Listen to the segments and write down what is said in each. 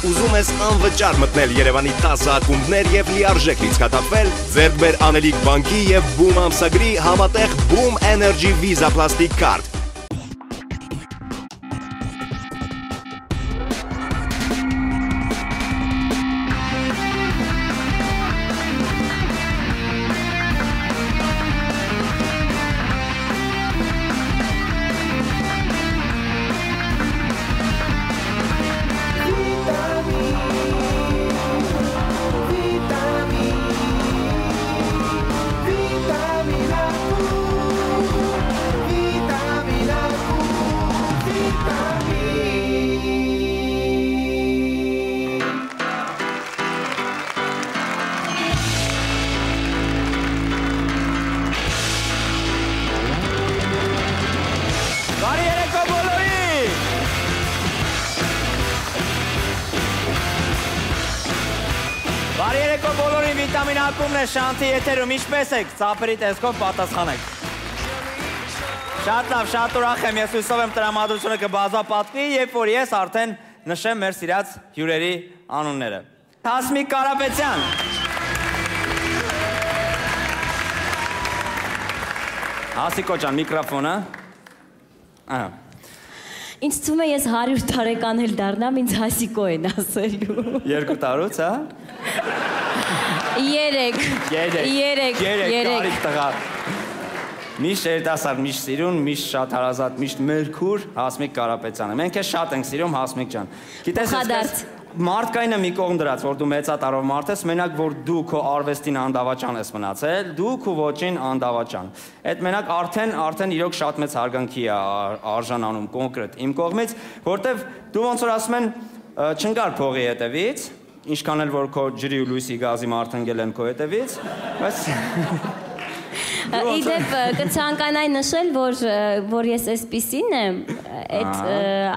Ուզում ես անվճար մտնել Երևանի 10 ակումբներ եւ լիարժեք լիցքաթափվել, ձեռք բեր Անելիք բանկի եւ Boom ամսագրի համատեղ Boom Energy Visa Plastic Card։ Վիտամին ակումբն է շանթի եթերում, ինչպես եք, ծապերի տեսքով պատասխանեք։ Շատ լավ, շատ ուրախ եմ, ես հույսով եմ տրամադրությունը կբազապատվի, երբ որ ես արդեն նշեմ մեր սիրած հյուրերի անունները։ Հասմիկ Կարապետյան։ Հասիկո ջան, միկրոֆոնը։ Ինձ թվում է ես 100 տարեկան էլ դառնամ, ինձ Հասիկո են ասելու։ 2 տարուց, հա։ 3 Միշտ երիտասարդ, միշտ սիրուն, միշտ շատ հարազատ, միշտ մերքուր Հասմիկ Կարապետյանը։ Մենք ես շատ ենք սիրում Հասմիկ ջան։ Գիտես, մարդկայինը մի կողմ դրած, որ դու մեծատարով մարդ ես, մենակ որ դու քո արվեստին անդավաճան ես մնացել, դու քո ոճին անդավաճան։ Այդ մենակ արդեն իրոք շատ մեծ հարգանքի է արժանանում կոնկրետ իմ կողմից, որտեվ դու ոնց որ ասում են չընկար փողի հետևից, ինչքան էլ որ քո ջրի ու լույսի գազի մարդ են քո հետևից, բայց Իդեպ կցանկանայի նշել, որ ես այսպիսին եմ,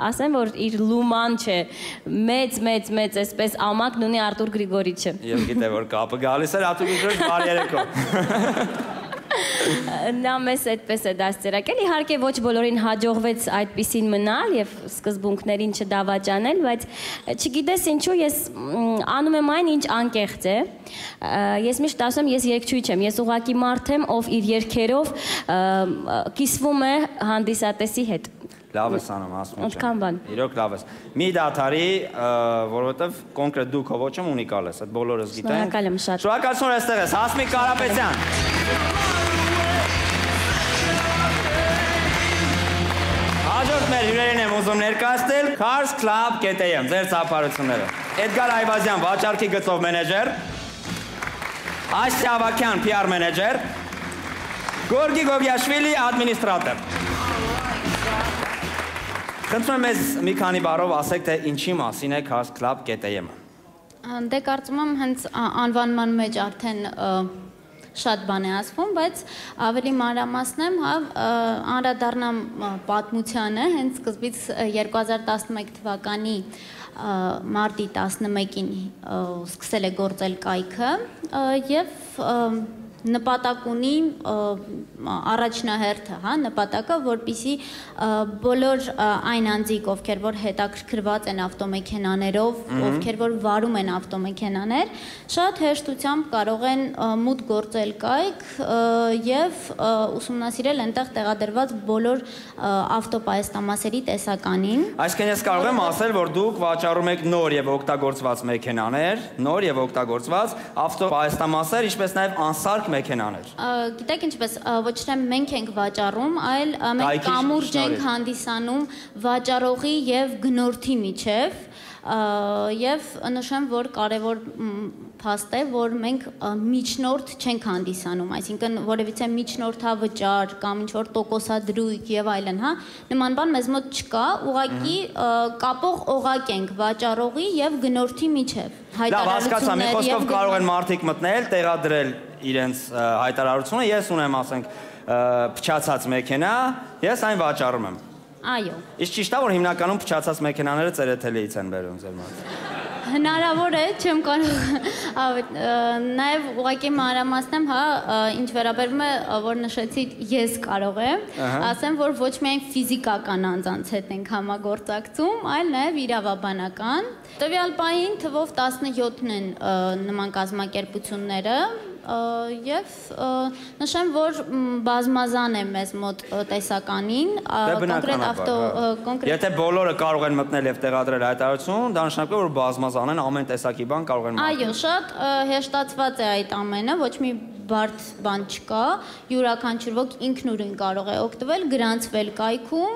ասեմ, որ իր լուման չէ, մեծ այսպես ամակն ունի Արտուր Գրիգորիչը։ Եվ գիտե, որ կապը գալիս էր Արտուր Գրիգորիչ բարի երեկո։ Նա մեզ այդպես է դաստիարակել, իհարկե ոչ բոլորին հաջողվեց այդպիսին մնալ և սկզբունքներին չդավաճանել, բայց չգիտես ինչու ես անում եմ այն, ինչ անկեղծ է, ես միշտ ասում ես երգչուհի չեմ, ես ուղղակի մարդ եմ, ով իր երգերով կիսվում է հանդիսատեսի հետ։ Լավ ես անում, ասում Ոնցքան բան։ Իրոք լավ ես։ Մի դադարի, որովհետև կոնկրետ դու քո ոճում ունիկալ ես, այդ բոլորս գիտենք։ Շնորհակալ եմ շատ։ Շնորհակալություն որ այստեղ ես, Հասմիկ Կարապետյան։ Հաջորդ մեր հյուրերին եմ ուզում ներկայացնել Cars Club.am, ձեր ծափարությունները։ Էդգար Այվազյան, վաճառքի գծով մենեջեր, Ասիա Ավակյան, PR մենեջեր, Գորգի Գոգիաշվիլի, ադմինիստրատոր։ Խնդրում եմ մեզ մի քանի բառով ասեք, թե ինչի մասին է Cars Club.am-ը։ Դե կարծում եմ հենց անվանման մեջ արդեն շատ բան է ասվում, բայց ավելի մանրամասնեմ, անդրադառնամ պատմությանը, հենց սկզբից 2011 թվականի մարտի 11-ին սկսել է գործել կայքը և նպատակ ունի առաջնահերթը, նպատակը, որպեսզի բոլոր այն անձիկ, ովքեր որ հետաքրքրված են ավտոմեքենաներով, ովքեր որ վարում են ավտոմեքենաներ, շատ հեշտությամբ կարող են մուտք գործել կայք եւ ուսումնասիրել այնտեղ տեղադրված բոլոր ավտոպայեստամասերի տեսականին։ Այսինքն ես կարող եմ ասել, որ դուք վաճառում եք նոր եւ օգտագործված մեքենաներ, նոր եւ օգտագործված ավտոպայեստամասեր, ինչպես նաեւ անսարք մեքենաներ։ Գիտեք ինչպես, ոչ թե մենք ենք վաճառում, այլ մենք կամուրջ ենք հանդիսանում վաճառողի եւ գնորդի միջև եւ նշեմ, որ կարեւոր փաստ է, որ մենք միջնորդ չենք հանդիսանում, այսինքն որևիցե միջնորդավճար կամ ինչ-որ տոկոսադրույք եւ այլն, նման բան մեզ մոտ չկա, ուղղակի կապող օղակ ենք վաճառողի եւ գնորդի միջև։ Լավ, հասկացա, մի խոսքով կարող են մարդիկ մտնել, տեղադրել իրենց հայտարարությունը, ես ունեմ, ասենք, փչացած մեքենա, ես այն վաճառում եմ։ Այո։ Իսկ ճիշտ է, որ հիմնականում փչացած մեքենաները ծերեթելիից են բերում ձեր մոտ։ Հնարավոր է, չեմ կարող նաև ուղղակի մանրամասնեմ, հա, ինչ վերաբերում է, որ նշեցի, ես կարող եմ, ասեմ, որ ոչ միայն ֆիզիկական անձանց հետ ենք համագործակցում, այլ նաև իրավաբանական։ Տվյալ պահին թվով 17-ն են նման կազմակերպությունները, և նշեմ, որ բազմազան է մեզ մոտ տեսականին, կոնկրետ Եթե բոլորը կարող են մտնել և տեղադրել հայտարարություն, դա նշանակում է, որ բազմազան են, ամեն տեսակի բան կարող են մտնել։ Այո, շատ հեշտացված է այդ ամենը, ոչ մի բարդ բան չկա, յուրաքանչյուր ոք ինքնուրույն կարող է օգտվել, գրանցվել կայքում։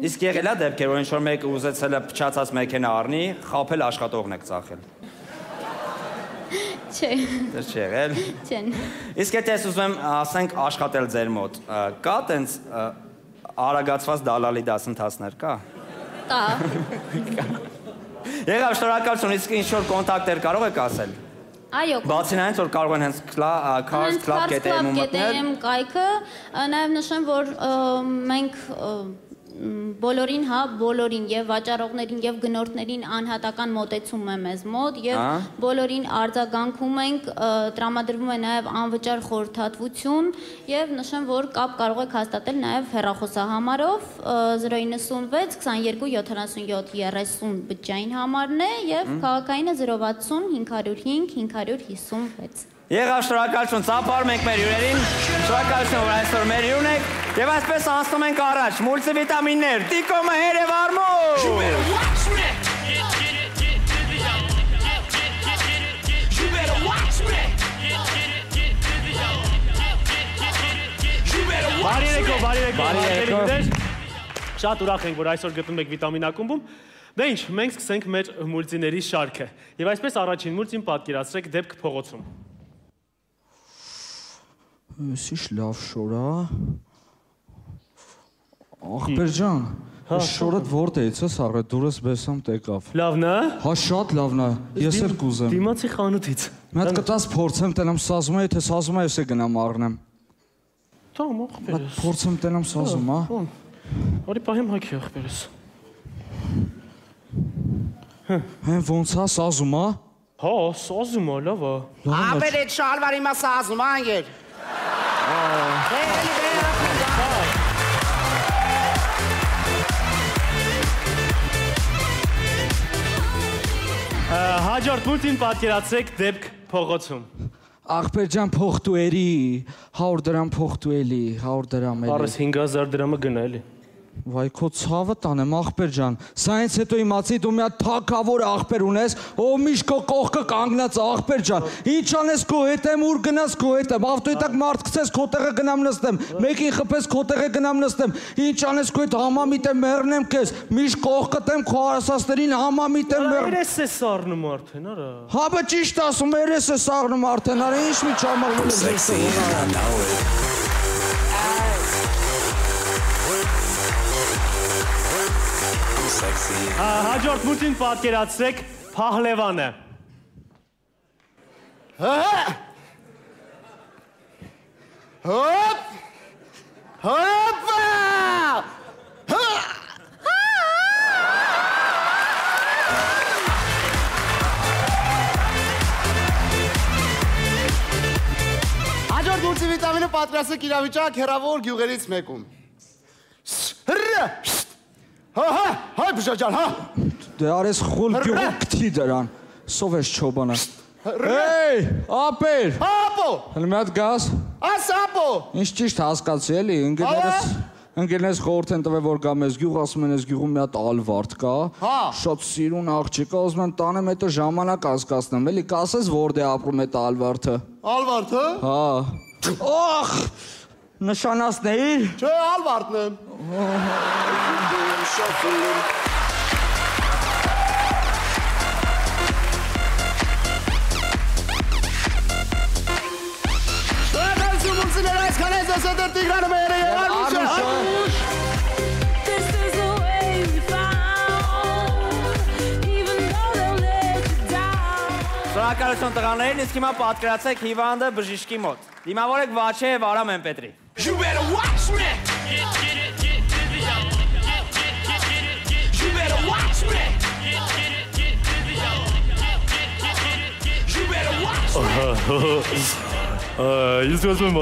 Իսկ եղել է դեպքեր, որ ինչ-որ մեկը ուզեցել է փչացած մեքենա առնի, խաբել աշխատողն եք ծախել։ Չէ։ Դες չի եղել։ Չեն։ Իսկ եթե ես ուզում եմ, ասենք, աշխատել ձեր մոտ, կա տենց արագացված դալալի դասընթացներ, կա։ Կա։ Եղավ, շնորհակալություն, իսկ ինչ-որ կոնտակտեր կարող եք ասել։ Այո։ Բացի նրանից, որ կարող են հենց cars.club.am-ում մտնել։ կայքը, նաև նշեմ, որ մենք բոլորին, հա, բոլորին եւ վաճառողներին եւ գնորդներին անհատական մոտեցում է մեզ մոտ եւ բոլորին արձագանքում ենք, տրամադրվում է նաև անվճար խորհրդատվություն եւ նշեմ, որ կապ կարող եք հաստատել նաև հեռախոսահամարով 096 22 77 30 բջջային համարն է եւ քաղաքայինը 060 505 556։ Եղավ, շնորհակալություն, ծափարում ենք մեր հյուրերին, շնորհակալություն, որ այսօր մեր հյուրն եք, և այսպես անցնում ենք առաջ, մուլտիվիտամիններ, Տիկոմը հերև արմու։ Բարի եկով, շատ ուրախ ենք, որ այսօր գտնում եք վիտամին ակումբում, դե ինչ, մենք սկսենք մեր մուլտիների շարքը, և այսպես առաջին մուլտին պատկերացրեք դեպք փողոցում։ Սիշ լավ շորա, աղբեր ջան, շորդ որտեղից ես առը, դուրս բեսամ տեկավ։ Լավն է։ Հա շատ լավն է, ես էլ կուզեմ։ Դիմացի խանութից։ Մետ կտաս փորձեմ տենամ սազում է, եթե սազում է ես է գնամ առնեմ։ Տամ աղբեր ես։ Փորձեմ տենամ սազում, հա։ Արի պահեմ հաքի աղբեր ես։ Հեն ոնց հա սազում հա։ Հա, սազում է, լավ է։ Աբեր էդ շալվարի մա սազում անգեր։ Հաջորդ մուլտին պատկերացրեք դեպք փողոցում։ Աղբեր ջան փողտուերի, 100 դրամ փողտուելի, 100 դրամ էլի։ Առս 5000 դրամը գնա էլի։ Վայ քո ցավը տանեմ աղբեր ջան, սա հենց հետո իմացի դու մի հատ թակավոր աղբեր ունես, ով միշտ քո կողքը կանգնած աղբեր ջան, ինչ անես քո հետ եմ, ուր գնաս քո հետ եմ, ավտոյի տակ մարդ գցես քո տեղը գնամ նստեմ, մեկին խփես քո տեղը գնամ նստեմ, ինչ անես քո հետ համամիտ եմ մեռնեմ քեզ, միշտ կողքդ եմ քո արասածներին համամիտ եմ մեռ։ Երես է սառնում արդեն, արա։ Հա բա ճիշտ ասում, երես է սառնում արդեն, արա ինչ մի չամարվել ես։ Հաջորդ մուլտին պատկերացրեք Փահլևանը։ Հոպ! Հոպա! Հաջորդ մուլտիվիտամինը պատրաստեք իրավիճակ հեռավոր գյուղերից մեկում։ Հայ բժաջան, հա։ Դե արես խուլ գյուղը կթի դրան, սով ես չոբանը։ Էй, ապեր։ Ապո։ Հələ մի հատ գաս։ Աս ապո։ Ինչ ճիշտ հասկացի էլի, ընկերներս խորհուրդ են տվել, որ գա մեզ գյուղ, ասում են, այս գյուղում մի հատ ալվարդ կա։ Շատ սիրուն աղջիկ է, ուզում են տանեմ, հետո ժամանակ անցկացնեմ, էլի կասես որտե ապրում է ալվարդը։ Ալվարդը։ Հա։ Օխ։ Նշանացնեիր։ Չէ, ալվարդն եմ։ Շնորհակալություն մուլտիներ այսքան ես դասադար Տիգրանը մերը և Արմուշը։ Շնորհակալություն տղաներին, իսկ հիմա պատկերացրեք հիվանդը բժիշկի մոտ։ Դիմավորեք Վաչե և Արամ Էմպետրի։ You better watch me. You better watch me. Ես դու ասում եմ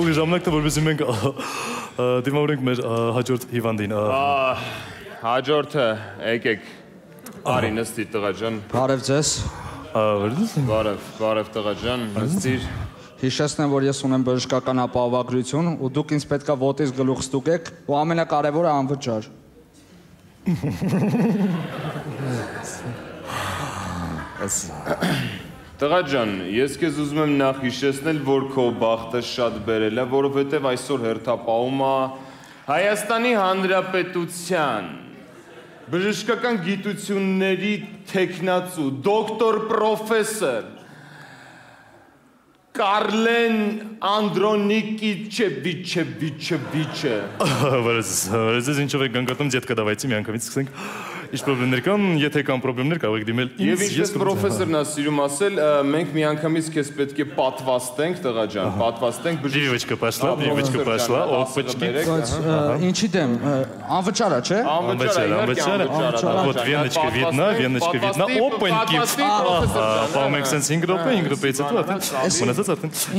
ուղի ժամանակը որպեսզի մենք դիմավորենք մեր հաջորդ հիվանդին։ Հաջորդը եկեք արի նստիր տղա ջան։ Բարև ձեզ։ Բարև տղա ջան, նստիր։ Հիշեցնեմ, որ ես ունեմ բժշկական ապահովագրություն ու դուք ինձ պետքա ոտից գլուխ ստուգեք ու ամենակարևորը անվճար։ Տղա ջան, ես քեզ ուզում եմ նախ հիշեցնել, որ քո բախտը շատ բերել է, որովհետև այսօր հերթապահումը Հայաստանի Հանրապետության բժշկական գիտությունների թեկնածու դոկտոր պրոֆեսոր Կարլեն Անդրոնիկիչևիչևիչևիչը։ Վարես ինչով եք գանգատում, դետկա դավայցի մի անգամից սկսենք։ Ինչ պրոբլեմներ կան, եթե կան պրոբլեմներ, կարող եք դիմել ինձ։ Եվ ինչպես պրոֆեսորն է սիրում ասել, մենք մի անգամից քեզ պետք է պատվաստենք, տղա ջան, պատվաստենք Привычка пошла, опачки։ Ինչի դեմ, անվճար է, չէ։ Անվճար։ Вот веночка видна, опаньки։ Պահում ենք սենց 5 րոպեից հետո արդեն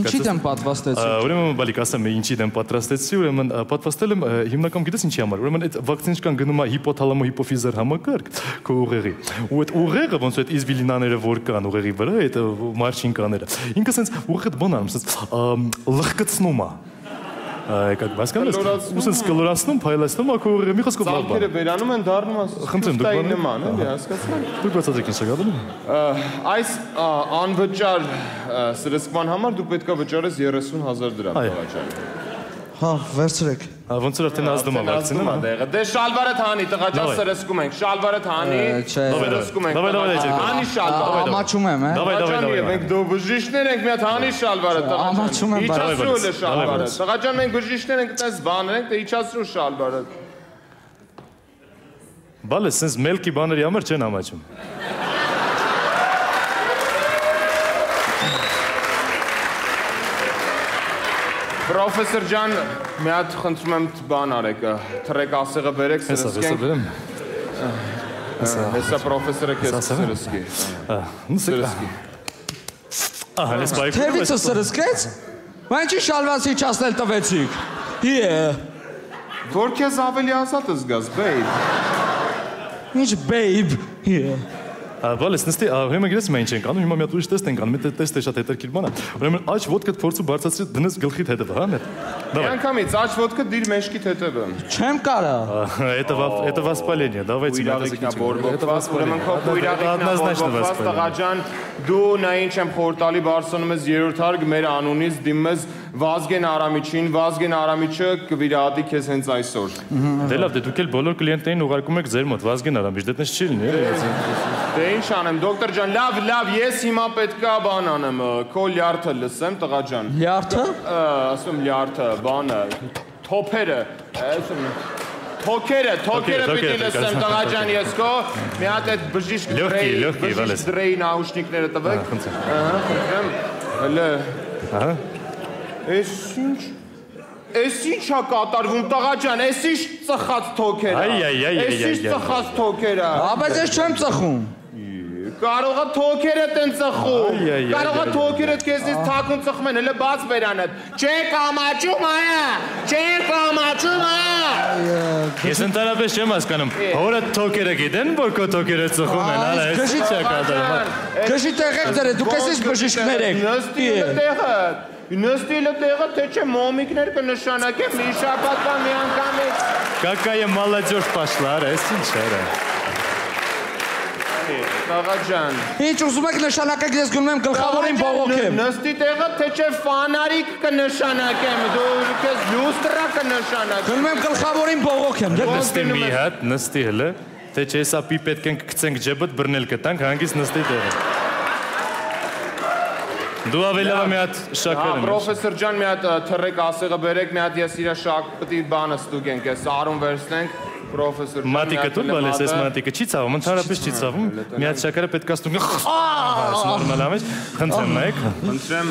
Ինչի դեմ պատվաստեցի։ Ուրեմն բալիկ ասեմ ինչի դեմ պատրաստեցի, ուրեմն պատվաստել եմ հիմնական գիտես ինչի համար։ Ուրեմն այդ վակցինան գնում է հիպոթալամո հիպոֆիզար համակարգ քո ուղեղի։ Ու այդ ուղեղը ոնց այդ իզվիլինաները որ կան ուղեղի վրա, այդ մարշինկաները։ Ինքը սենց ուղեղը բան անում, սենց լղկացնում է։ Как басканես։ Ուսից կլորացնում, փայլացնում, ակո ուղեղը մի խոսքով լավ բան։ Ծաղկերը վերանում են դառնում խնդրեմ նման, էլի հասկացա։ Դուք բացատրեք ինձ գալու։ Այս անվճար սրսկման համար դու պետքա վճարես 30,000 դրամ տղա ջան։ Հա, վերցրեք։ Ոնց որ արդեն ազդում է վակցինը։ Դե շալվարը թանի, տղա ջան, սրսկում ենք, շալվարը թանի, սրսկում ենք։ Հանի շալվարը։ Ամաչում եմ, է։ Դավայ։ Մենք դու բժիշկներ ենք, մի հատ հանի շալվարը, տղա ջան։ Ամաչում եմ, իջացրու էլ շալվարը։ Տղա ջան, մենք բժիշկներ ենք, այդպես բաներ ենք, դե իջացրու շալվարը։ Բալը սենց մելքի բաների համար չեն ամաչում։ Պրոֆեսոր ջան, մի հատ խնդրում եմ բան արեք, թրեք ասեղը բերեք, սրսկենք։ Հեսա պրոֆեսորը քեզ սրսկի։ Սրսկի։ Ահա, ես բայ։ Թևիցը սրսկեց։ Բա ինչի շալվացի չասնել տվեցիք։ Որ քեզ ավելի ազատ զգաս, բեյբ։ Ինչ բեյբ։ Բալես նստի, հիմա գիտես մենք ինչ ենք անում, հիմա մի հատ ուրիշ տեստ ենք անում, մի տեստ է շատ հետաքրքիր բան է։ Ուրեմն աջ ոդկդ փորձու բարձրացրի դնես գլխիդ հետևը, հա՞։ Մի անգամից աջ ոդկը դիր մեջքիդ հետևը։ Չեմ կարա։ Это воспаление, давайте ուրեմն քո կույրաղիկնա տղա ջան, դու նա ինչ եմ խորտալի բարձրանում ես երրորդ հարկ մեր անունից դիմում ես Վազգեն Արամիչին, Վազգեն Արամիչը կվիրահատի քեզ հենց այսօր։ Դե լավ, դե դուք էլ բոլոր կլիենտներին ուղարկում եք ձեր մոտ Վազգեն Արամիչ, դե տես չի լինի։ Դե ինչ անեմ, դոկտոր ջան, լավ, ես հիմա պետքա բան անեմ, քո լյարդը լսեմ, տղա ջան։ Լյարդը։ Ասում լյարդը, բանը, թոփերը, ասում Թոքերը պիտի լսեմ, տղա ջան, ես քո մի հատ այդ բժիշկ դրեի նաուշնիկները տվեք։ Խնդրեմ, հələ։ Էս ինչ է կատարվում, տղա ջան, էս ինչ ծխած թոքեր է։ Էս ինչ ծխած թոքեր է։ Բայց ես չեմ ծխում։ Կարող է թոքերը տեն ծխում։ Կարող է թոքերը քեզից թաքուն ծխում են, հələ բաց բերանդ։ Չեք ամաչում այա։ Չեք ամաչում այա։ Ես ընդհանրապես չեմ հասկանում։ Հորը թոքերը գիտեն, որ քո թոքերը ծխում են, հələ էս ինչ է կատարվում։ Քշի տեղեք դրե, դուք էս բժիշկներ եք։ Նստիլը տեղը, թե չէ մոմիկներ կնշանակեմ մի շաբաթվա մի անգամից։ Какая молодежь пошла, էս ինչ էր։ Տղա ջան։ Ինչ ուզում եք նշանակեք, ես գնում եմ գլխավորին բողոքեմ։ Նստի տեղը, թե չէ ֆանարիկ կնշանակեմ, դու քեզ լյուստրա կնշանակեմ։ Գնում եմ գլխավորին բողոքեմ։ Նստի մի հատ, նստի հələ, թե չէ սա պիպետ կենք գցենք ջեբդ բռնել կտանք, հանգիստ նստի տեղը։ Դու ավելի լավ մի հատ շաքար եմ։ Պրոֆեսոր ջան, մի հատ թռեք ասեղը բերեք, մի հատ ես իրա շաքպտի բանը ստուգենք, այս արուն վերցնենք, պրոֆեսոր ջան։ Մատիկը դու բալես ես մատիկը չի ցավում, ընդհանրապես չի ցավում։ Մի հատ շաքարը պետք է ստուգենք։ Նորմալ ամեն, խնդրեմ նայեք։ Խնդրեմ։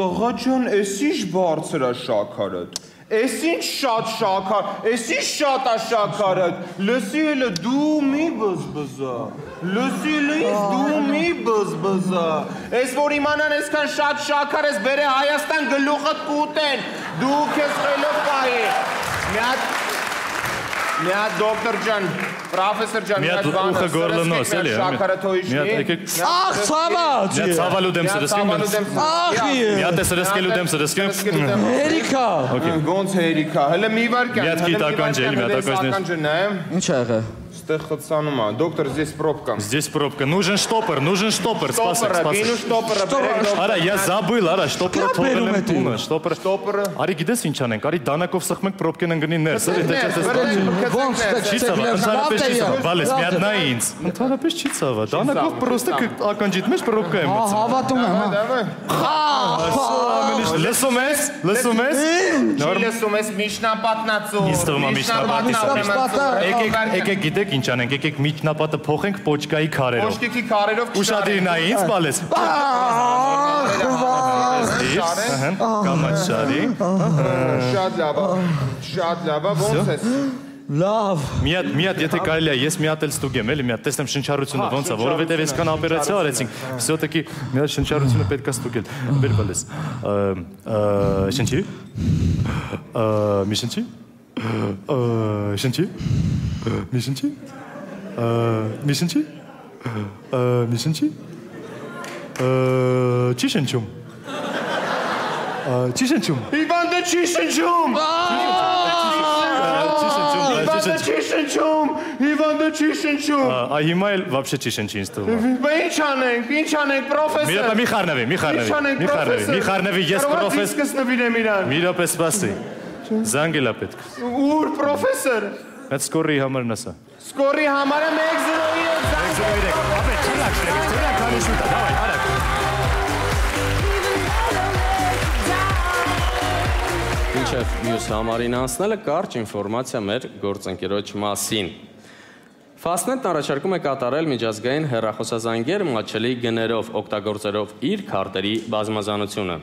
Տղա ջան, էս ինչ բարձր է շաքարը։ Էս ինչ շատ շաքար, էս ինչ շատ է շաքարը, լսի հելը դու մի բզբզա, լսի հելը ինձ դու մի բզբզա, էս որ իմանան էսքան շատ շաքար ես բերը Հայաստան գլուխըտ կուտեն, դու կեզ խելը պայի, մի հատ դոկտոր ջան, պրոֆեսոր ջան, մի հատ բանը, սրսկեք մեր շաքարը թոյիշնի, աղ ծավաց, մի հատ ծավալու դեմ սրսկեմ, մի հատ է սրսկելու դեմ սրսկեմ, հերիքա, ոնց հերիքա, հլը մի վարկյան, մի հատ կիտական ջել, մի հատ ակաժներ, ինչ ա եղը, Ստեղ խցանում է, դոկտոր, здесь пробка. Здесь пробка, нужен штопор, спасай. Գինու շտոպերը, Արա, я забыл, արա, շտոպերը թողել եմ տունը, շտոպերը։ Արի գիտես ինչ անենք, արի դանակով սխմենք պրոբկեն ընկնի ներս, ոնց չի ցավա, ընդհանրապես չի ցավա, բալես, մի հատ նա ինձ։ Ընդհանրապես չի ցավա, դանակով պրոստը ականջիդ մեջ պրոբկա եմ մտցնում։ Հավատում եմ, Լսում ես։ Լսում ես միջնապատնացու։ Ինձ թվում է միջնապատը։ Եկեք գիտեք ինչ անենք, եկեք միջնապատը փոխենք պոչկայի քարերով։ Պոչկի քարերով Ուշադիր նա ինձ բալես։ Կամաչարի։ Շատ լավ, ոնց ես։ լավ, Մի հատ եթե կարելի է, ես մի հատ էլ ստուգեմ, էլի մի հատ տեսնեմ շնչառությունը ոնց է, որովհետև այսքան օպերացիա արեցինք, всё-таки մի հատ շնչառությունը պետք է ստուգել։ Բեր բալես։ Շնչի։ Մի շնչի։ Շնչի։ Մի շնչի։ Մի շնչի։ Մի շնչի։ Չի շնչում։ Չի շնչում։ Իվանդը չի շնչում։ Իվանդը չի շնչում։ Այ հիմա էլ вообще չի շնչի ինձ թվում։ Ինչ անենք, պրոֆեսոր։ Մի խառնվի, ես պրոֆեսոր։ Սկսնվիրեմ իրան։ Մի րոպե սպասի։ Զանգելա պետք։ Ուր պրոֆեսոր։ Այդ սկորի համարն ասա։ Սկորի համարը 103 Ապե, չլակ, քանի շուտա, դավայ, արագ։ Մինչև մյուս համարին անցնելը կարճ ինֆորմացիա մեր գործընկերոջ մասին։ Fastnet-ն առաջարկում է կատարել միջազգային հեռախոսազանգեր մատչելի գներով, օգտագործելով իր քարտերի բազմազանությունը։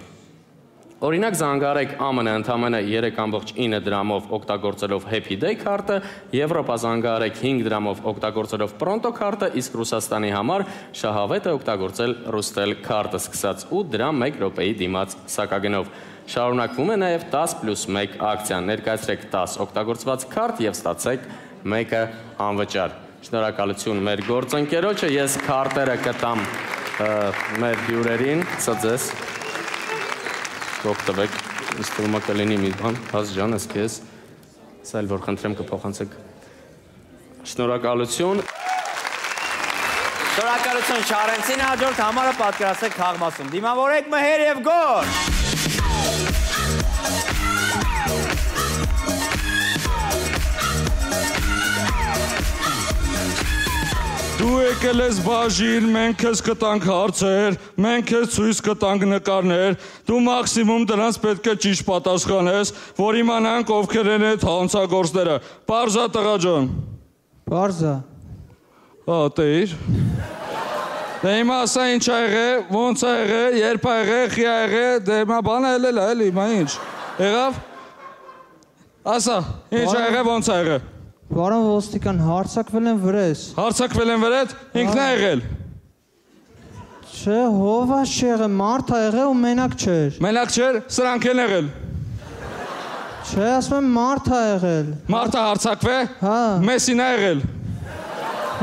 Օրինակ զանգարեք ԱՄՆ ընդամենը 3.9 դրամով օգտագործելով Happy Day քարտը, Եվրոպա զանգարեք 5 դրամով օգտագործելով Pronto քարտը, իսկ Ռուսաստանի համար շահավետ է օգտագործել Rustel քարտը, սկսած 8 դրամ 1 րոպեի դիմաց սակագնով։ Շարունակվում է նաև 10+1 ակցիան, ներկայացրեք 10 օգտագործված քարտ և ստացեք 1-ը անվճար։ Շնորհակալություն մեր գործընկերոջը, ես քարտերը կտամ մեր հյուրերին, սա ձեզ օգտվեք, ինձ թվում է կլինի մի բան, Հաց ջան, ես քեզ, սա էլ որ խնդրեմ կփոխանցեք։ Շնորհակալություն։ Շնորհակալություն Չարենցին, հաջորդ համարը պատկերացրեք Խաղմասում։ Դիմավորեք մհեր և գոլ։ Դու եկել ես բաժին, մենք քեզ կտանք հարցեր, մենք քեզ ցույց կտանք նկարներ, դու մաքսիմում դրանց պետք է ճիշտ պատասխանես, որ իմանանք ովքեր են այդ հանցագործները։ Պարզա տղա ջան։ Պարզա։ Տեիր։ Դե հիմա ասա ինչ ա եղել, ոնց ա եղել, երբ ա եղել, խի ա եղել, դե հիմա բանը ելել ա, էլի, հիմա ինչ։ Եղավ։ Ասա, ինչ ա եղել, ոնց ա եղել։ Պարոն ոստիկան, հարցակվել են վրես։ Հարցակվել են վրեդ, ինքն է եղել։ Չէ, հովաշ չի եղել, մարդ ա եղել ու մենակ չէր։ Մենակ չէր, սրանք են եղել։ Չէ, ասում եմ մարդ ա եղել։ Մարդը հարցակվե։ Հա։ Մեսին ա եղել։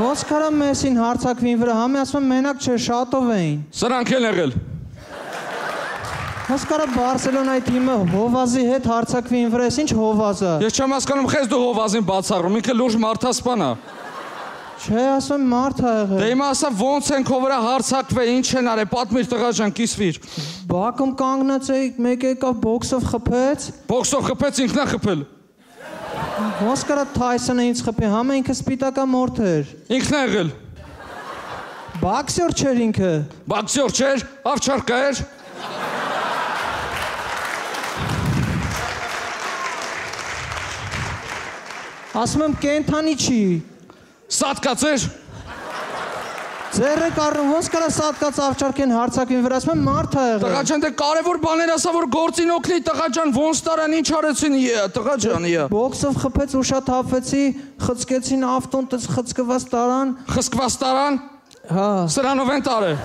Ոնց կարա Մեսին հարցակվին վրա, համի ասում եմ մենակ չէր, շատով էին։ Սրանք են եղել։ Ոնց կարա Բարսելոնայի թիմը Հովազի հետ հարցակվին վրա, ինչ Հովազը։ Ես չեմ հասկանում, խես դու Հովազին բացառում, ինքը լուրջ մարդասպան է։ Չէ, ասում եմ մարդ ա եղել։ Դե հիմա ասա ոնց են քո վրա հարցակվել, ինչ են արել, պատմիր տղա ջան, կիսվիր։ Բակում կանգնած էի, մեկը եկավ բոքսով խփեց։ Բոքսով խփեց, ինքն է խփել։ Ոնց կարա Թայսոնը ինձ խփի, համը ինքը սպիտակա մորթ էր։ Ինքն է եղել։ Բաքսյոր չէր ինքը։ Բաքսյոր չէր, ավչարկա էր։ Ասում եմ կենթանի չի։ Սատկաց էր։ Ձերը կառնում, ոնց կարա սատկած ավճարքեն հարցակին վրա, ասում եմ մարդ ա եղել։ Տղա ջան, դե կարևոր բաներ ասա, որ գործին օգնի, տղա ջան, ոնց տարան, ինչ արեցին, տղա ջան, Բոքսով խփեց, ուշաթափվեցի, խցկեցին ավտոն, տես խցկված տարան։ Խցկված տարան։ Հա։ Սրանով են տարել։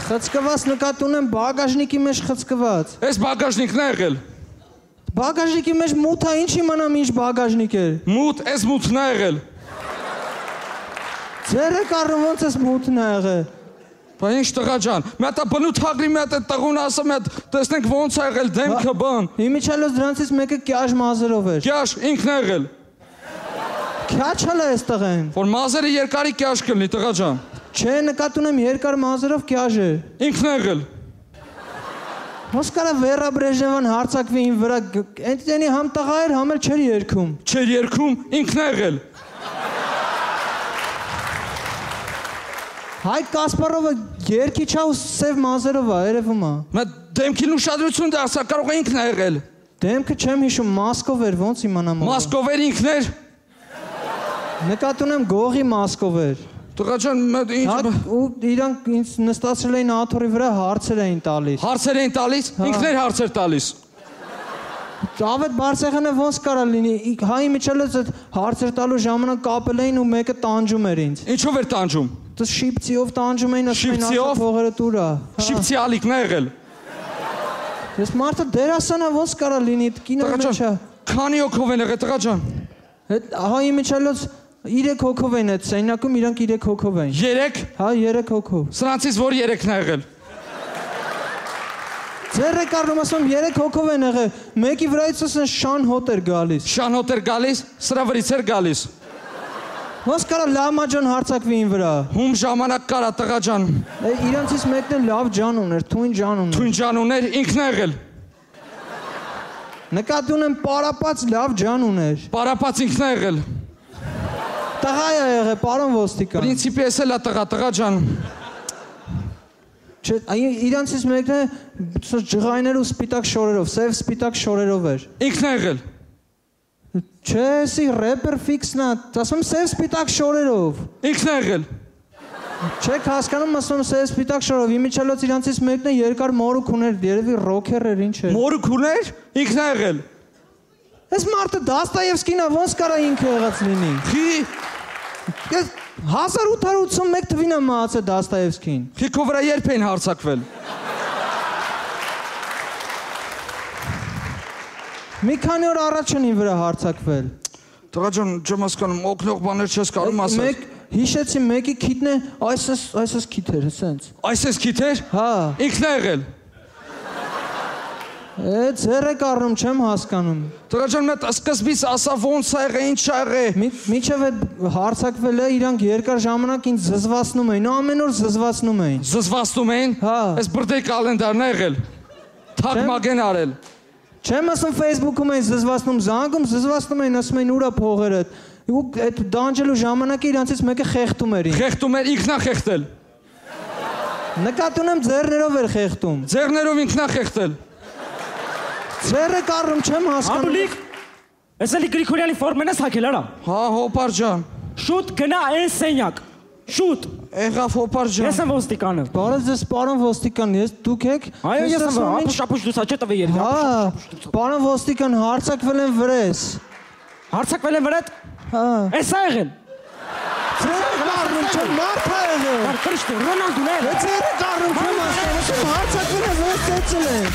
Խցկված նկատի ունեմ բագաժնիկի մեջ խցկված։ Էս բագաժնիկն է եղել։ Բագաժնիկի մեջ մութ է, ինչ իմանամ ինչ բագաժնիկ է։ Մութ, էս մութն է եղել։ Ձերը կառնում ոնց էս մութն է եղել։ Բա ինչ տղա ջան, մի հատ բնութ հագրի մի հատ այդ տղուն ասա մի հատ տեսնենք ոնց է եղել դեմքը բան։ Իմիջիալոց դրանցից մեկը կյաշ մազերով էր։ Կյաշ ինքն է եղել։ Քյաչալ է այս տղեն։ Որ մազերը երկարի կյաշ կլինի տղա ջան։ Չէ, նկատի ունեմ երկար մազերով կյաշ է։ Ինքն է եղել։ Ոնց կարա Վերա Բրեժնևան հարցակվի իմ վրա, այնտենի համ տղա էր, համ էլ չէր երգում։ Չէր երգում, ինքն է եղել։ Հայկ Կասպարովը երգիչ է ու սև մազերով է, երևում է։ Նա դեմքին ուշադրություն դարձա, կարող է ինքն է եղել։ Դեմքը չեմ հիշում, մասկով էր, ոնց իմանամ։ Մասկով էր ինքն էր։ Նկատի ունեմ գողի մասկով էր։ Տղա ջան, ու իրանք ինձ նստացրել էին աթոռի վրա հարցեր էին տալիս։ Հարցեր էին տալիս, ինքն էր հարցեր տալիս։ Ավետ Բարսեղյանը ոնց կարա լինի, հայի միջելից այդ հարցեր տալու ժամանակ կապել էին ու մեկը տանջում էր ինձ։ Ինչով էր տանջում։ Դες շիպցիով տանջում էին, ասում էին ասա փողերը տուրա։ Շիպցի ալիքն է եղել։ Ես մարդը դերասանա ոնց կարա լինի, կինոյի մեջ է։ Քանի հոգով են եղել տղա ջան։ Հայի միջելից 3 հոգով են այդ սենակում, իրանք 3 հոգով են։ 3։ Հա, 3 հոգով։ Սրանցից որ 3-ն է եղել։ Ձերը կառնում ասում 3 հոգով են եղել, մեկի վրայից ասեն շան հոտ էր գալիս։ Շան հոտ էր գալիս, սրա վրից էր գալիս։ Ոնց կարա լամա ջան հարցակվի ին վրա։ Հում ժամանակ կարա տղա ջան։ Իրանցից մեկն էլ լավ ջան ուներ, թույն ջան ուներ։ Թույն ջան ուներ, ինքն է եղել։ Նկատի ունեմ պարապած լավ ջան ուներ։ Պարապած ինքն է եղել։ Տղա է եղել, պարոն ոստիկան։ Պրինցիպի էս էլ է տղա ջան։ Չէ, իրանցից մեկն է ջղայներ ու սպիտակ շորերով, սև սպիտակ շորերով էր։ Ինքն է եղել։ Չէ, սի ռեպեր ֆիքսն է, ասում սև սպիտակ շորերով։ Ինքն է եղել։ Չեք հասկանում, ասում սև սպիտակ շորերով, իմիջիալոց իրանցից մեկն է երկար մորուք ուներ, երևի ռոքեր էր, ինչ էր։ Մորուք ուներ, ինքն է եղել։ Այս մարդը Դաստոևսկին է, ոնց կարա ինքը եղած լինի։ Խի 1881 թվին է մահացել Դաստոևսկին։ Խիքո վրա երբ էին հարցակվել։ Մի քանի օր առաջ են վրա հարցակվել։ Տղա ջան, չեմ հասկանում, օգնող բաներ չես կարող ասել։ Մեկ հիշեցի, մեկի քիթն է, այս քիթ էր, սենց։ Այս քիթ էր։ Հա։ Ինքն է եղել։ Ձերը կառնում չեմ հասկանում։ Տղա ջան, մետ սկզբից ասա ոնց ա եղել, ինչ ա եղել։ Միջև այդ հարցակվել է, իրանք երկար ժամանակ ինձ զզվացնում էին, ամեն օր զզվացնում էին։ Զզվացնում էին։ Հա։ Այս բրդեի կալենդարն է եղել։ Թակ մագեն արել։ Չեմ ասում Facebook-ում էին զզվացնում, զանգում զզվացնում էին, ասում էին ուրա փողերը։ Ու այդ դանջելու ժամանակը իրանցից մեկը խեղդում էր ինձ։ Խեղդում էր, ինքն է խեղդել։ Նկատի ունեմ ձեռներով էր խեղդում։ Ձեռներով ինքն է խեղդել։ Ձերը կառում չեմ հասկանում։ Աբուլիկ, ես էլի Գրիգորյանի ֆորմեն ես հագել արա։ Հա, հոպար ջան։ Շուտ գնա այն սենյակ։ Շուտ։ Եղավ հոպար ջան։ Ես եմ ոստիկանը։ Բարև ձեզ, պարոն ոստիկան, ես դուք եք։ Այո, ես եմ, ապուշ դուսա չէ տվի երբ։ Հա, պարոն ոստիկան, հարցակվել են վրես։ Հարցակվել են վրետ։ Հա։ Էս ա եղել։ Ձերը կառնում չեմ, մարդ ա եղել։ Քրիստո, Ռոնալդուն է։ Ձերը կառնում չեմ հասկանում, հարցակվել են վրես ծեցել են։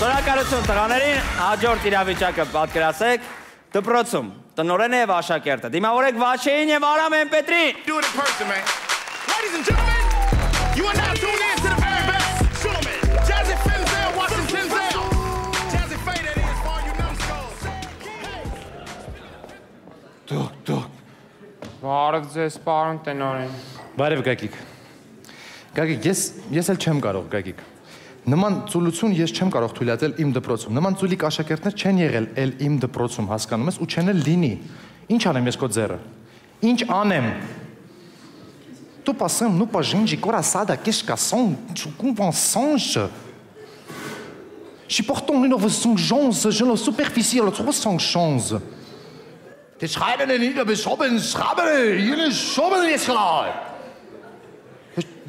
Շնորհակալություն տղաներին, հաջորդ իրավիճակը պատկերացեք դպրոցում, տնօրենը եւ աշակերտը։ Դիմավորեք Վաչեին եւ Արամ Էմպետրին։ Do it in person, man. Ladies and gentlemen, you are now tuned in to the very best showman, Jazzy Finzel, Washington Zell. Jazzy Faye, that is for you numbskulls. Դուք։ Բարև ձեզ, պարոն տնօրեն։ Բարև Գագիկ։ Գագիկ, ես էլ չեմ կարող, Գագիկ։ Նման ծուլություն ես չեմ կարող թույլատրել իմ դպրոցում։ Նման ծուլիկ աշակերտներ չեն եղել էլ իմ դպրոցում, հասկանում ես, ու չեն էլ լինի։ Ինչ անեմ ես քո ձեռը։ Ինչ անեմ։ Tu passamos no pajinho de coraçada que escação, com pensões. pourtant auf so Chance, je superficiel, trop sans chance. Die schreiben nicht, aber schreiben, hier schreiben jetzt klar.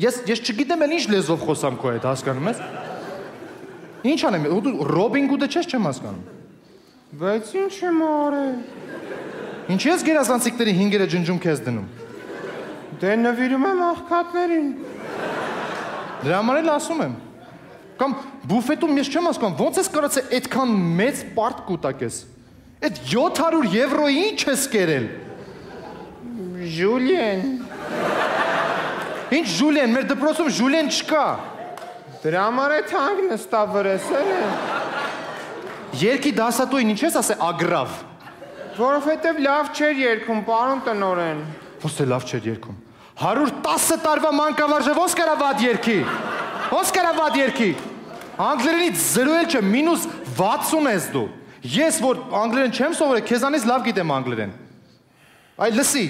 Ես չգիտեմ էլ ինչ լեզվով խոսամ քո հետ, հասկանում ես։ Ինչ անեմ, դու Ռոբին Հուդը չեմ հասկանում։ Բայց ինչ եմ արել։ Ինչ ես գերազանցիկների 5-երը ջնջում քեզ դնում։ Դե նվիրում եմ աղքատներին։ Դրա համար էլ ասում եմ։ Կամ բուֆետում ես չեմ հասկանում, ոնց ես կարողացել այդքան մեծ պարտ կուտակես։ Այդ 700 եվրոյի ինչ ես կերել։ Ժուլիեն։ Ինչ Ժուլիեն, մեր դպրոցում Ժուլիեն չկա։ Դրա համար է թանկ նստա վրեսել է։ Երկի դասատուին ինչ ես ասել ագրավ։ Որովհետև լավ չէր երգում, պարոն տնօրեն։ Ոնց է լավ չէր երգում։ 110 տարվա մանկավարժը ոնց կարա վատ երգի։ Ոնց կարա վատ երգի։ Անգլերենից 0 էլ չէ, -60 ես դու։ Ես որ անգլերեն չեմ սովորել, քեզանից լավ գիտեմ անգլերեն։ Այ լսի։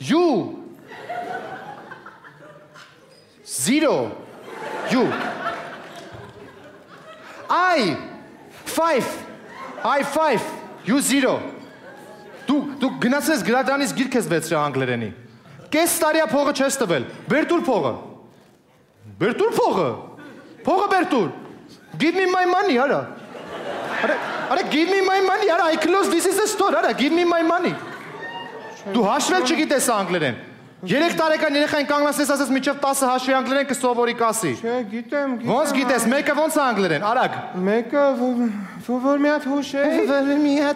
You 0 you I 5 you 0 դու գնացես գրադարանից գիրք ես վերցրել անգլերենի կես տարիա փողը չես տվել բեր տուր փողը փողը բեր տուր give me my money արա give me my money արա I close this is the store արա give me my money Դու հաշվել չգիտես անգլերեն։ 3 տարեկան երեխային կանգնացես ասես միջև 10 հաշվի անգլերեն կսովորի կասի։ Չէ, գիտեմ։ Ոնց գիտես, մեկը ոնց է անգլերեն, արագ։ Մեկը որ մի հատ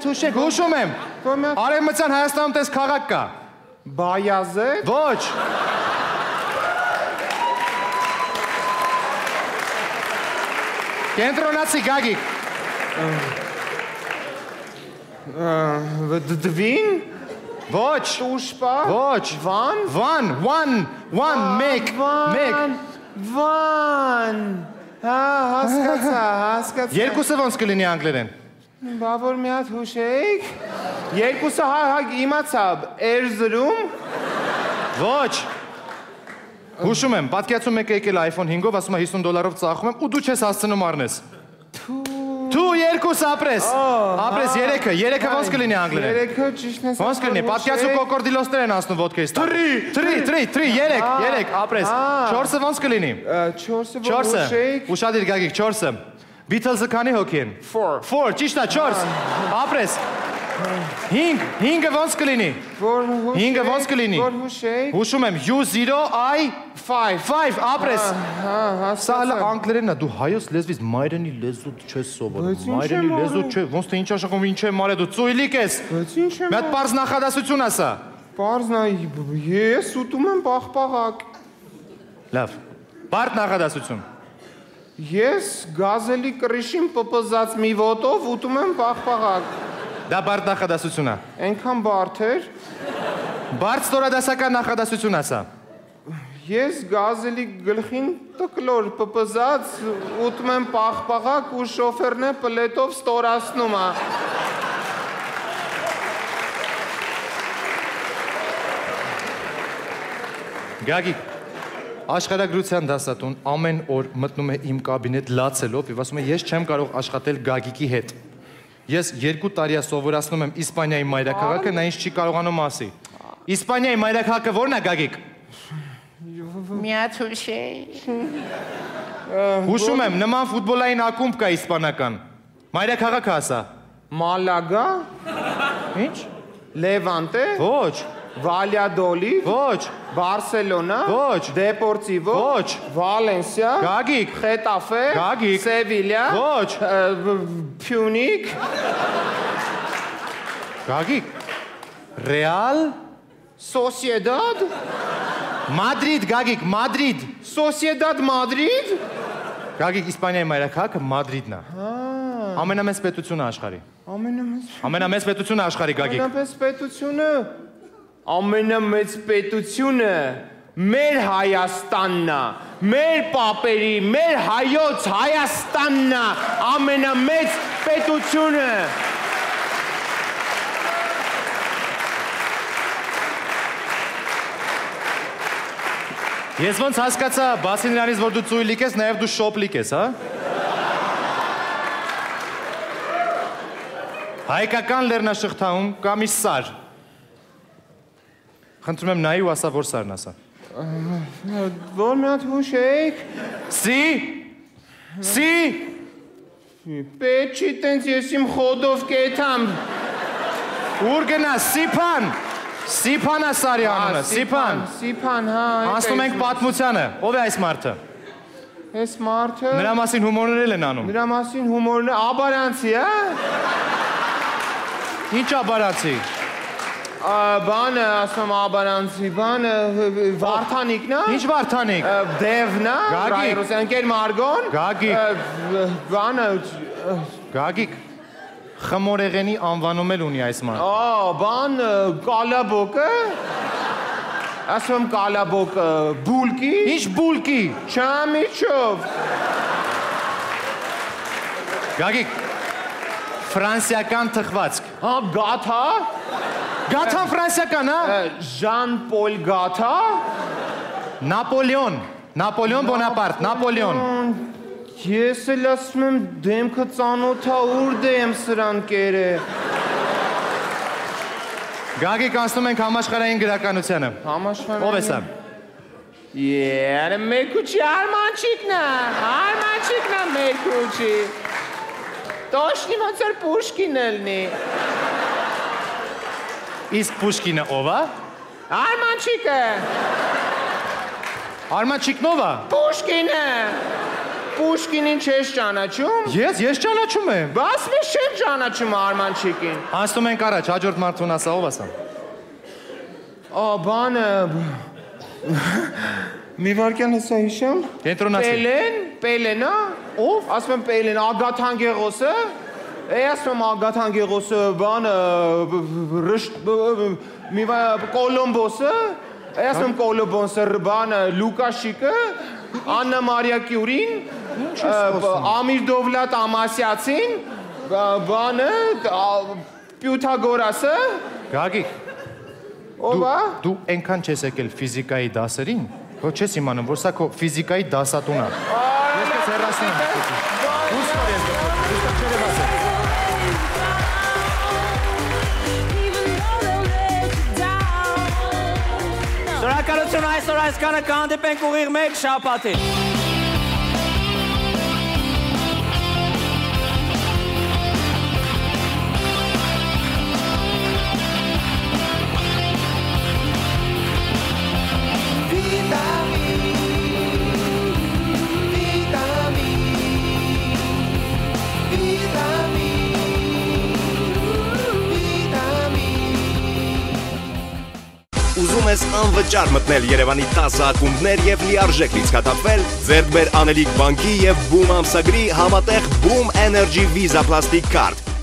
հուշեք։ Հուշում եմ։ Արևմտյան Հայաստանում տես քաղաք կա։ Բայազետ։ Ոչ։ Կենտրոնացի Գագիկ։ Դվին։ Ոչ, ուշպա։ Ոչ, վան, մեկ։ Վան։ Հասկացա։ Երկուսը ոնց կլինի անգլերեն։ Բա որ մի հատ հուշեիք։ Երկուսը իմացա, Էրզրում։ Ոչ։ Հուշում եմ, պատկերացում եք եկել iPhone 5-ով, ասում է $50 ծախում եմ ու դու չես հասցնում առնես։ Դու երկուս ապրես, երեքը ոնց կլինի անգլերեն։ Երեքը ճիշտ ես։ Ոնց կլինի, պատկերացու կոկորդիլոսներ են ասնում ոտքեից։ 3, ապրես։ 4-ը ոնց կլինի։ 4-ը, ուշադիր Գագիկ, 4-ը։ Beatles-ը քանի հոգի են։ 4, ճիշտ է, 4, ապրես։ 5-ը ոնց կլինի։ 5-ը ոնց կլինի։ Հուշում եմ, U0, I 5, ապրես։ Սա հələ անգլերենն է, դու հայոց լեզվից մայրենի լեզու չես սովորում։ Մայրենի լեզու չէ, ոնց թե ինչ աշխատում, ինչ եմ արել դու, ծույլիկ ես։ Մի հատ պարզ նախադասություն ասա։ Պարզ ես ուտում եմ պաղպաղակ։ Լավ, բարդ նախադասություն։ Ես գազելի կրիշին պպզած մի ոտով ուտում եմ պաղպաղակ։ Դա բարդ նախադասություն է։ Այնքան բարդ էր։ Բարդ ստորադասական նախադասություն ասա։ Ես գազելի գլխին տկլոր պպզած ուտում եմ պաղպաղակ ու շոֆերն է պլետով ստորացնում է։ Գագիկ, աշխարհագրության դասատուն ամեն օր մտնում է իմ կաբինետ լացելով եւ ասում է ես չեմ կարող աշխատել Գագիկի հետ։ Ես 2 տարի սովորացնում եմ Իսպանիայի մայրաքաղաքը, նա ինձ չի կարողանում ասի։ Իսպանիայի մայրաքաղաքը ո՞րն է Գագիկ։ Միացուշե։ Հուշում եմ, նման ֆուտբոլային ակումբ կա իսպանական։ Մայրաքաղաքը ասա։ Մալագա։ Ինչ։ Լևանտե։ Ոչ։ Վալյադոլիդ։ Ոչ։ Բարսելոնա։ Ոչ։ Դեպորտիվո։ Ոչ։ Վալենսիա։ Գագիկ։ Խետաֆե։ Գագիկ։ Սևիլիա։ Ոչ։ Փյունիկ։ Գագիկ։ Ռեալ։ Սոսիեդադ։ Մադրիդ, Գագիկ, Մադրիդ։ Սոսիեդադ Մադրիդ։ Գագիկ, Իսպանիայի մայրաքաղաքը Մադրիդն է։ Ամենամեծ պետությունը աշխարհի։ Ամենամեծ պետությունը աշխարհի, Գագիկ։ Ամենամեծ պետությունը մեր Հայաստանն է, մեր պապերի, մեր հայոց Հայաստանն է, ամենամեծ պետությունը։ Ես ոնց հասկացա, բացի նրանից, որ դու ծույլիկ ես, նաև դու շոպլիկ ես, հա? Հայկական լեռնաշղթայում կա մի սար։ Խնդրում եմ նայի ու ասա, որ սարն ասա։ Որ մի հատ հուշեք։ Սի։ Պետք չի տենց ես իմ խոդով կեթամ։ Ուր գնաս, Սիփան է սարի անունը, Սիփան։ Սիփան, հա։ Անցնում ենք պատմությանը, ով է այս մարդը։ Այս մարդը։ Նրա մասին հումորներ են անում։ Նրա մասին հումորներ, աբարանցի, հա։ Ինչ աբարանցի։ Բանը, ասում աբարանցի, բանը, Վարդանիկն է։ Ինչ Վարդանիկ։ Դևն է, Ռուսենկեր Մարգոն։ Բանը, Գագիկ։ Խմորեղենի անվանում էլ ունի այս մարդը։ Բան, կալաբոկը։ Ասում կալաբոկը, բուլկի։ Ինչ բուլկի։ Չամիչով։ Գագիկ, ֆրանսիական թխվածք։ Գաթա։ Գաթան ֆրանսիական, հա։ Ժան Պոլ Գաթա։ Նապոլեոն Բոնապարտ, Նապոլեոն։ Ես էլ ասում եմ դեմքը ծանոթա ուր դեմ սրան կերը։ Գագիկ, անցնում ենք համաշխարհային գրականությանը։ Համաշխարհային։ Ով է սա։ մեր քուչի Արմանչիկն է մեր քուչի։ Տոշնի ոնց էր Պուշկին ելնի։ Իսկ Պուշկինը ով է։ Արմանչիկը։ Արմանչիկն ով է։ Պուշկինը։ Պուշկինին չես ճանաչում։ Ես ճանաչում եմ։ Բաս ես չեմ ճանաչում Արմանչիկին։ Անցնում ենք առաջ, հաջորդ մարդուն ասա, ով ասա։ Բանը մի վարքյան հեսա հիշեմ։ Կենտրոնացի։ Պելեն, ով։ Ասում եմ Պելեն, Ագաթան Գեղոսը։ Ասում եմ Ագաթան Գեղոսը, բանը Կոլոմբոսը։ Ասում եմ Կոլոմբոսը, բանը Լուկաշիկը, Աննա Մարիա Կյուրին, Ամիր Դովլատ Ամասյացին, բանը Պյութագորասը։ Գագիկ, դու այնքան չես եկել ֆիզիկայի դասերին, որ չես իմանում, որ սա քո ֆիզիկայի դասատուն է։ Ես քեզ հեռացնում Շնորհակալություն այսօր այսքանը կհանդիպենք ուղիղ մեկ շաբաթին։ Ուզում ես անվճար մտնել Երևանի 10 ակումբներ եւ լիարժեք լիցքաթափվել, ձեռք բեր Անելիք բանկի եւ Boom ամսագրի համատեղ Boom Energy Visa Plastic Card։